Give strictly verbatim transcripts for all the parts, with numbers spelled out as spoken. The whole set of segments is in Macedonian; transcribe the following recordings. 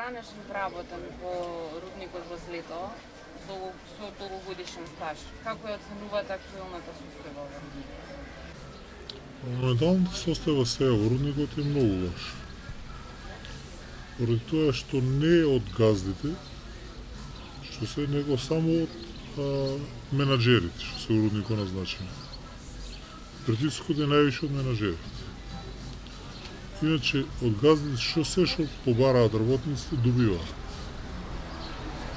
данешен вработен во рудникот во Злето, со долгогодишен стаж, како ја оценувате актуелната состојба во рудникот? Моменталната состојба сега во рудникот е многу лоша. Поради тоа што не е од газдите, што се него само од а, менаџерите, што се во рудникот назначени. Притискот е највише од менаџерите. Иначе, од газдите што се што побараат работниците, добиваат.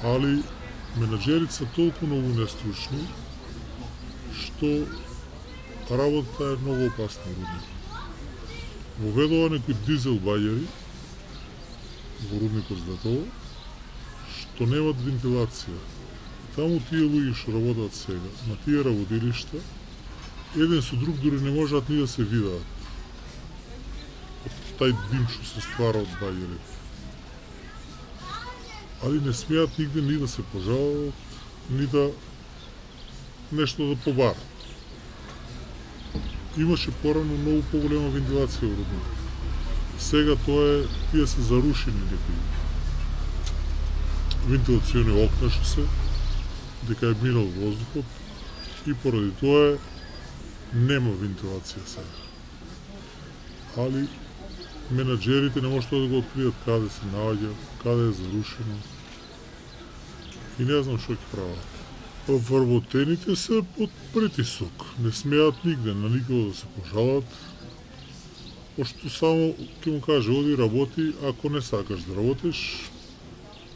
Али, менаџерите се толку многу нестручни, што работата е многу опасна во рудникот. Воведува некои дизел бајери во рудникот Златово, што немат вентилација. Таму тие луѓе што работат сега, на тие работилишта, еден со друг дури не можат ни да се видат. Тај дим што се ствара од бајерите. Али не смеат нигде ни да се пожалат, ни да нешто да побарат. Имаше порано многу поголема вентилација во рудникот. Сега тоа е, тие се зарушени некои вентилациони окна што се, дека е минал воздухот и поради тоа нема вентилација сега. Али менаџерите не можат да го откријат каде се наоѓа, каде е зарушено и не знам што ќе прават. Вработените се под притисок, не смеат нигде на никого да се пожалат, пошто само ќе му каже оди работи, ако не сакаш да работиш,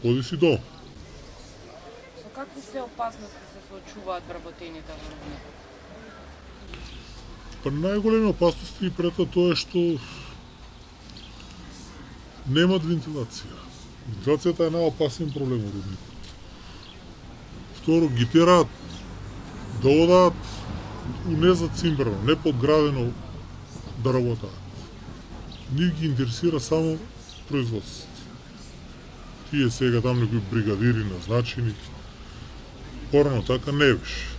оди си дом. Со какви се опасности се соочуваат вработените во рудникот? Па најголеми опасности пред тоа е што немат вентилација. Вентилацијата е најопасен проблем во рудникот. Второ, ги тераат да одат незацимбрано, неподградено да работаат. Нив ги интересира само производството. Тие сега там некои бригадири назначени, порано така не беше.